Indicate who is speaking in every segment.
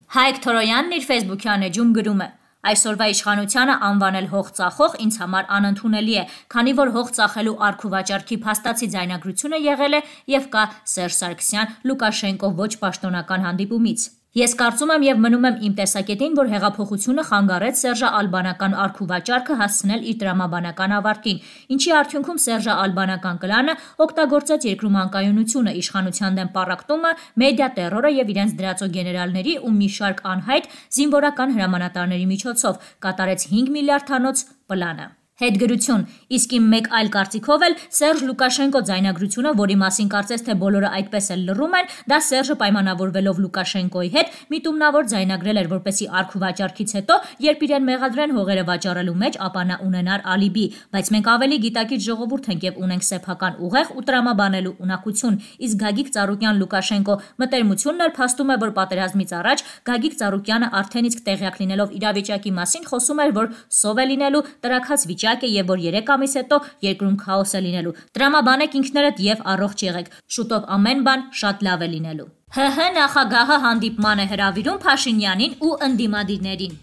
Speaker 1: Հայկ Թորոյանն իր ֆեյսբուքյան էջում գրում է. Այսօրվա իշխանությանը անվանել հող ծախող ինձ համար անընդունելի է, քանի որ հող ծախելու արք ու վաճառքի փաստացի ձայնագրությունը եղել է եւ կա Սերժ Սարգսյան Լուկաշենկո ոչ պաշտոնական հանդիպումից։ Ես կարծում եմ եւ մնում եմ իմ տեսակետին, որ հեղափոխությունը խանգարեց Սերժը ալբանական արք ու վաճառքը հասցնել իր տրամաբանական ավարտին, ինչի արդյունքում Սերժը ալբանական կլանը օգտագործեց երկրում անկայունությունը, իշխանության դեմ պառակտումը, մեդիա տերորը եւ իրենց դրածո գեներալների ու մի շարք անհայտ զինվորական հրամանատարների միջոցով կատարեց 5 միլիարդանոց պլանը։ Հետգրություն, իսկ իմ մեկ այլ կարծիքով էլ Սերժ Լուկաշենկո ձայնագրությունը, որի մասին կարծես թե բոլորը այդպես էլ լռում են, դա Սերժը պայմանավորվելով Լուկաշենկոյի հետ միտումնավոր ձայնագրել էր, որպեսզի արք ու վաճառքից հետո, երբ իրեն մեղադրեն հողերը վաճառելու մեջ, ապա նա ունենար ալիբի, բայց մենք ավելի գիտակից ժողովուրդ ենք եւ ունենք սեփական ուղեղ ու տրամաբանելու ունակություն, իսկ Գագիկ Ծառուկյան Լուկաշենկո մտերմությունն էլ փաստում է, որ պատերազմից առաջ Գագիկ Ծառուկյանը արդեն իսկ տեղյակ լինելով իրավիճակի մասին խոսում էր, որ սով է լինելու տրաքած վիճակ եւ որ 3 ամիս հետո երկրում քաոս է լինելու։ Տրամաբանեք ինքներդ եւ առողջ եղեք։ Շուտով ամեն բան շատ լավ է լինելու։ ՀՀ նախագահը հանդիպման է հրավիրում Փաշինյանին ու ընդդիմադիրներին։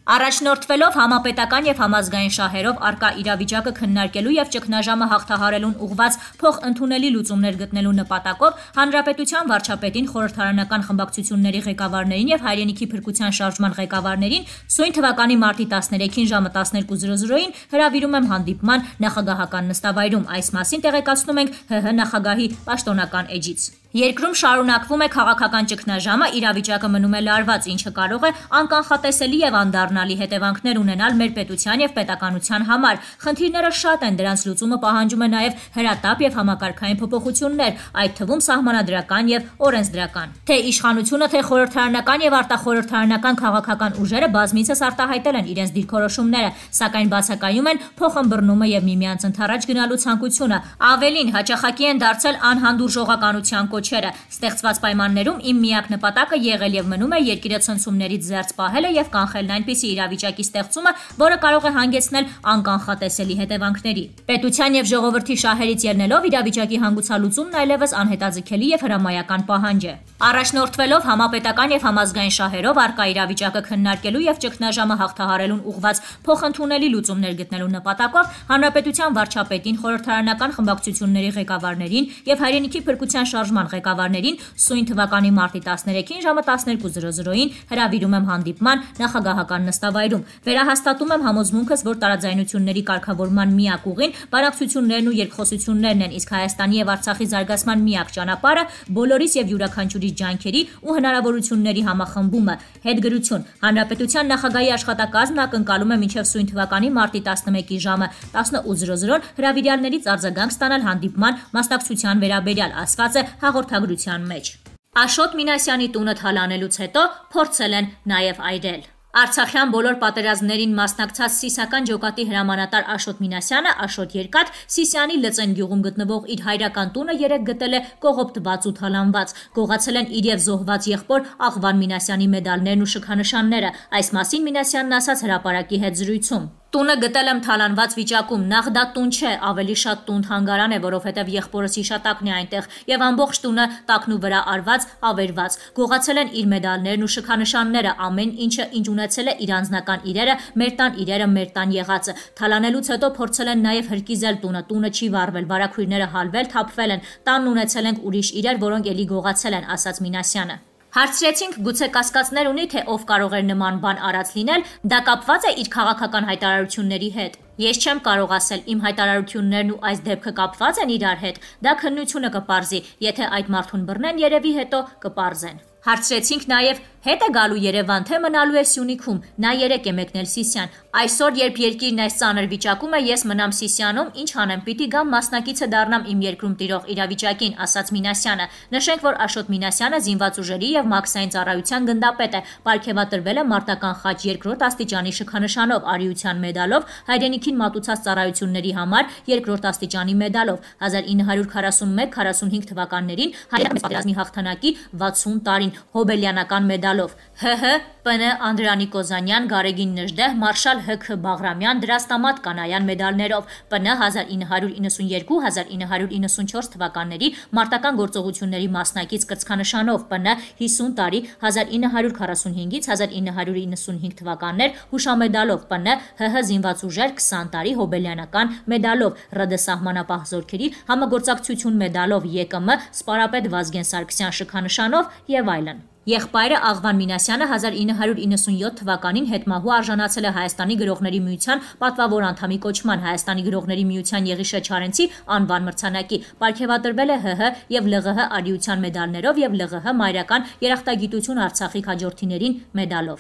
Speaker 1: Առաջնորդվելով համապետական եւ համազգային շահերով արկա իրավիճակը քննարկելու եւ ճգնաժամը հաղթահարելուն ուղղված փոխընդունելի լուծումներ գտնելու նպատակով Հանրապետության վարչապետին, խորհրդարանական խմբակցությունների ղեկավարներին եւ հայրենիքի փրկության շարժման ղեկավարներին սույն թվականի մարտի 13-ին ժամը 12:00-ին հրավիրում եմ հանդիպման նախագահական նստավայրում։ Այս մասին տեղեկացնում ենք ՀՀ նախագահի պաշտոնական էջից։ Երկրում շարունակվում է քաղաքական ճգնաժամը, իրավիճակը մնում է լարված, ինչը կարող է անկանխատեսելի եւ անդառնալի հետևանքներ ունենալ մեր պետության եւ պետականության համար։ Խնդիրները շատ են, դրանց լուծումը պահանջում է նաեւ հրատապ եւ համակարգային փոփոխություններ, այդ թվում սահմանադրական եւ օրենսդրական։ Թե իշխանությունը, թե խորհրդարանական եւ արտախորհրդարանական քաղաքական ուժերը բազմիցս արտահայտել են իրենց դիրքորոշումները, սակայն բացակայում են փոխըմբռնումը եւ միմյանց ընդառաջ գնալու ցանկությունը։ Ավելին, հաճախակի են դարձել անհանդուրժողականության կոչերը։ Ստեղծված պայմաններում իմ միակ նպատակը եղել եւ մնում է երկիրը ցնցումներից զերծ պահելը եւ կանխելն այնպիսի իրավիճակի ստեղծումը, որը կարող է հանգեցնել անկանխատեսելի հետևանքների։ Պետության եւ ժողովրդի շահերից ելնելով իրավիճակի հանգուցալուծումն այլևս անհետաձգելի եւ հրամայական պահանջ է։ Առաջնորդվելով համապետական եւ համազգային շահերով արկա իրավիճակը քննարկելու եւ ճգնաժամը հաղթահարելուն ուղղված փոխընդունելի լուծումներ գտնելու նպատակով Հանրապետության վարչապետին, խորհրդարանական խմբակցությունների ղեկավարներին եւ հայրենիքի փրկության շարժման ղեկավարներին սույն թվականի մարտի 13-ին ժամը 12:00-ին հրավիրում եմ հանդիպման նախագահական նստավայրում։ Վերահաստատում եմ համոզմունքս, որ տարաձայնությունների կարգավորման միակ ուղին բանակցություններն ու երկխոսություններն են, իսկ Հայաստանի եւ Արցախի զարգացման միակ ճանապարհը բոլորիս եւ յուրաքանչյուրի ջանքերի ու հնարավորությունների համախմբումը։ Հետգրություն, Հանրապետության նախագահի աշխատակազմն ակնկալում է մինչև սույն թվականի մարտի 11-ի ժամը 18:00 հրավիրյալներից արձագանք ստանալ հանդիպման մասնակցության վերաբերյալ, ասված է հաղորդագրության մեջ։ Աշոտ Մինասյանի տունը թալանելուց հետո փորձել են նաև այրել։ Արցախյան բոլոր պատերազմներին մասնակցած Սիսական ջոկատի հրամանատար Աշոտ Մինասյանը, Աշոտ Երկաթ, Սիսյանի Լծեն գյուղում գտնվող իր հայրական տունը երեկ գտել է կողոպտված ու թալանված։ Գողացել են իր եւ զոհված եղբոր Աղվան Մինասյանի մեդալներն ու շքանշանները։ Այս մասին Մինասյանն ասաց հրապարակի հետ զրույցում։ Տունը գտել եմ թալանված վիճակում, նախ դա տուն չէ, ավելի շատ տուն թանգարան է, որովհետև եղբորս հիշատակն է այնտեղ եւ ամբողջ տունը տակնու վրա արված, ավերված։ Գողացել են իր մեդալներն ու շքանշանները, ամեն ինչը ինչ ունեցել է իր անձնական իրերը, մեր տան իրերը, մեր տան եղածը։ Թալանելուց հետո փորձել են նաեւ հրկիզել տունը չի վառվել, վարակույրները հալվել, թափվել են։ Տանն ունեցել ենք ուրիշ իրեր, որոնք էլի գողացել են, ասաց Մինասյանը։ Հարցրեցինք, գուցե կասկածներ ունի, թե ով կարող էր նման բան արած լինել, դա կապված է իր քաղաքական հայտարարությունների հետ։ Ես չեմ կարող ասել, իմ հայտարարություններն ու այս դեպքը կապված են իրար հետ, դա քննությունը կպարզի, եթե այդ մարդուն բռնեն, երևի հետո կպարզեն։ Հարցրեցինք նաև, հետ է գալու Երևան, թե մնալու է Սյունիքում, նա երեկ է մեկնել Սիսիան։ Այսօր, երբ երկիրն այս ծանր վիճակում է, ես մնամ Սիսիանում, ինչ անեմ, պիտի գամ մասնակիցը դառնամ իմ երկրում տիրող իրավիճակին, ասաց Մինասյանը։ Նշենք, որ Աշոտ Մինասյանը զինված ուժերի եւ մաքսային ծառայության գնդապետ է, պարգևատրվել է մարտական խաչ 2-րդ աստիճանի շքանշանով, արիության մեդալով, հայրենիքին մատուցած ծառայությունների համար 2-րդ աստիճանի մեդալով, 1941-45 թվականներին հայրենի պատերազմի հաղթանակի 60 տարին հոբելյանական մեդալով։ ՀՀ, ՊՆ Անդրանիկ Կոզանյան, Գարեգին Նժդեհ, Մարշալ ՀՔ Բաղրամյան, Դրաստամատ Կանայան մեդալներով, ՊՆ 1992-1994 թվականների մարտական գործողությունների մասնակից կրծքանշանով, ՊՆ 50 տարի 1945-1995 թվականներ հուշամեդալով, ՊՆ ՀՀ զինված ուժեր 20 տարի հոբելյանական մեդալով, ՌԴ սահմանապահ զորքերի համագործակցություն մեդալով, ԵԿՄ Սպարապետ Վազգեն Սարգսյան շքանշանով եւ այլն։ Եղբայրը Աղվան Մինասյանը 1997 թվականին հետմահու արժանացել է Հայաստանի գրողների միության պատվավոր անդամի կոչման, Հայաստանի գրողների միության Եղիշե Չարենցի անվան մրցանակի, պարգևատրվել է ՀՀ եւ ԼՂՀ արիության մեդալներով եւ ԼՂՀ մայրական երախտագիտություն Արցախի քաջորդիներին մեդալով։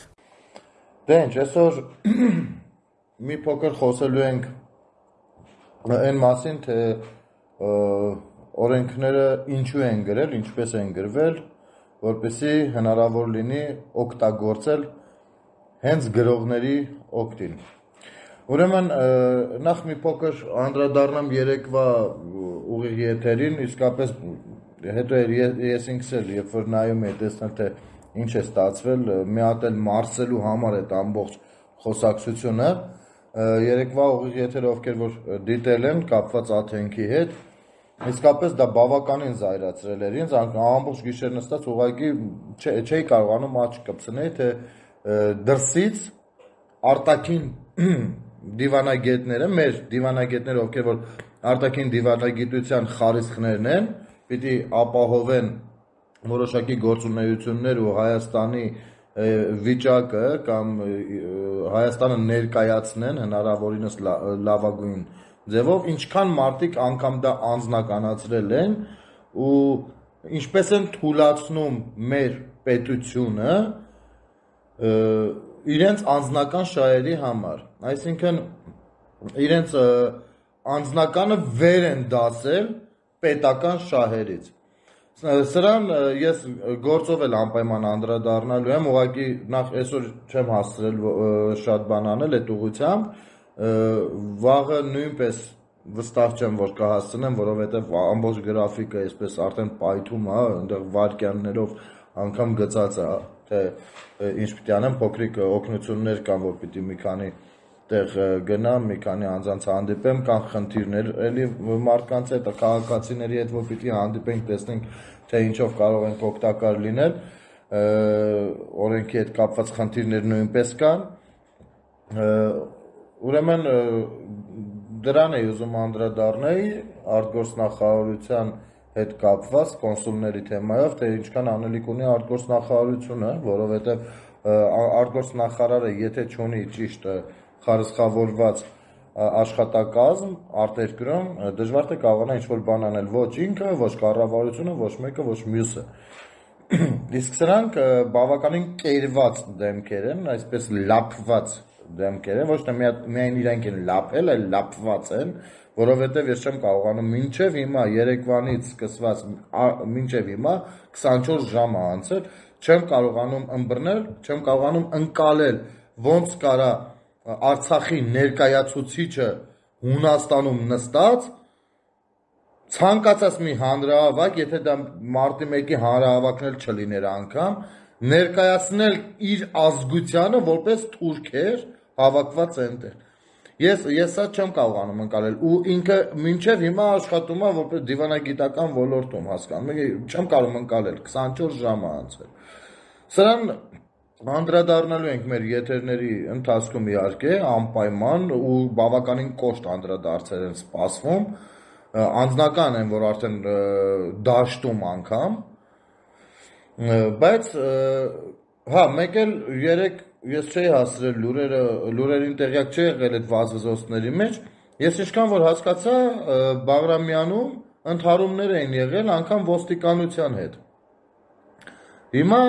Speaker 2: Դե ինչ, այսօր մի փոքր խոսելու ենք այն մասին, թե օրենքները ինչու են գրել, ինչպես են գրվել, որպեսզի հնարավոր լինի օգտագործել հենց գրողների օգտին։ Ուրեմն նախ մի փոքր անդրադառնամ երեկվա ուղիղ եթերին, իսկապես հետո ես ինքս էլ երբ որ նայում եի տեսնել թե ինչ է ստացվել, մի հատ էլ մարսելու համար այդ ամբողջ խոսակցությունը, երեկվա ուղիղ եթերը ովքեր որ դիտել են կապված Աթենքի հետ, իսկապես դա բավականին զայրացրել էր ինձ, ամբողջ գիշեր նստած ուղղակի չէի կարողանում աչք կպցնել, թե դրսից արտաքին դիվանագետները, մեր դիվանագետները, ովքեր որ արտաքին դիվանագիտության խարիսխներն են, պիտի ապահովեն որոշակի գործունեություններ ու Հայաստանի վիճակը կամ Հայաստանը ներկայացնեն հնարավորինս լավագույն ձևով, ինչքան մարդիկ անգամ դա անձնականացրել են ու ինչպես են թույլատրում մեր պետությունը իրենց անձնական շահերի համար, այսինքն իրենց անձնականը վեր են դասել պետական շահերից։ Սրան ես գործով էլ անպայման անդրադառնալու եմ, ուղղակի նախ այսօր չեմ հասցրել շատ բան անել այդ ուղղությամբ, վաղը նույնպես վստահ չեմ, որ կհասցնեմ, որովհետև ամբողջ գրաֆիկը այսպես արդեն պայթում է, այնտեղ վայրկյաններով անգամ գծած է, թե ինչ պիտի անեմ, փոքրիկ օգնություններ կան, որ պիտի մի քանի տեղ գնամ, մի քանի անձանց հանդիպեմ, կան խնդիրներ էլի մարդկանց հետ, քաղաքացիների հետ, որ պիտի հանդիպենք, տեսնենք, թե ինչով կարող ենք օգտակար լինել, օրենքի հետ կապված խնդիրներ նույնպես կան, ուրեմն դրան էի ուզում անդրադառնալ արտգործնախարարության հետ կապված կոնսուլների թեմայով, թե ինչքան անելիք ունի արտգործնախարարությունը, որովհետև արտգործնախարարը եթե չունի ճիշտ խարսխավորված աշխատակազմ արտերկրում, դժվար թե կարողանա ինչ-որ բան անել ոչ ինքը, ոչ կառավարությունը, ոչ մեկը, ոչ մյուսը։ Իսկ սրանք բավականին կերված դեմքեր են, այսպես լափված դեմքեր են, ոչ թե միայն իրենք են լափել, այլ լափված են, որովհետև ես չեմ կարողանում մինչև հիմա երեկվանից սկսված մինչև հիմա 24 ժամ է անցել, չեմ կարողանում ըմբռնել, չեմ կարողանում ընկալել ոնց կարա Արցախի ներկայացուցիչը Հունաստանում նստած ցանկացած մի հանրահավաք, եթե դա մարտի 1-ի հանրահավաքն էլ չլիներ անգամ, ներկայացնել իր ազգությանը որպես թուրքեր հավաքված այնտեղ։ Ես սա չեմ կարողանում ընկալել ու ինքը մինչև հիմա աշխատում է որպես դիվանագիտական ոլորտում, հասկանում եք, չեմ կարողում ընկալել, 24 ժամ է անցել։ Սրան անդրադառնալու ենք մեր եթերների ընթացքում իհարկե անպայման ու բավականին կոշտ անդրադարձեր են սպասվում, անձնական են, որ արդեն դաշտում անգամ, բայց հա, մեկ էլ երեք ես չէի հասցրել լուրերին տեղյակ չի եղել այդ վազվզոցների մեջ, ես ինչքան որ հասկացա Բաղրամյանում ընդհարումներ էին եղել անգամ ոստիկանության հետ։ Հիմա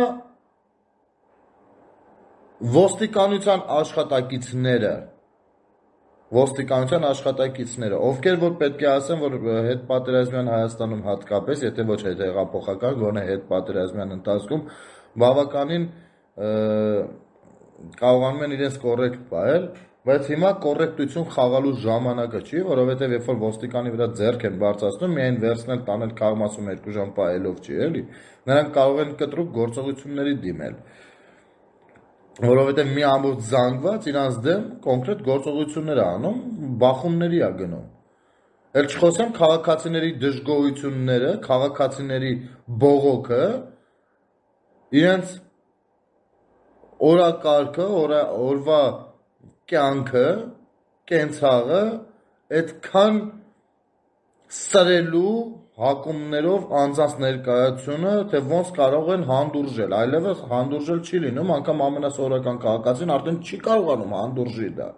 Speaker 2: ոստիկանության աշխատակիցները, ովքեր որ պետք է ասեն, որ հետպատերազմյան Հայաստանում հատկապես, եթե ոչ հետհեղափոխական, գոնե հետպատերազմյան ընթացքում բավականին կարողանում են իրենց կոռեկտ պահել, բայց հիմա կոռեկտություն խաղալու ժամանակը չի, որովհետև երբ որ ոստիկանի վրա ձեռք են բարձրացնում, միայն վերցնել տանել քաղմասում 2 ժամ պահելով չի, էլի, նրանք կարող են կտրուկ գործողությունների դիմել։ որովհետև մի ամբողջ զանգված իրանց դեմ կոնկրետ գործողություններ է անում, բախումների է գնում։ Էլ չխոսեմ քաղաքացիների դժգոհությունները, քաղաքացիների բողոքը, իրենց օրակարգը, օրվա կյանքը, կենցաղը այդքան սրելու հակումներով անձանց ներկայությունը, թե ոնց կարող են հանդուրժել, այլևս հանդուրժել չի լինում, անգամ ամենասովորական քաղաքացին արդեն չի կարողանում հանդուրժի դա։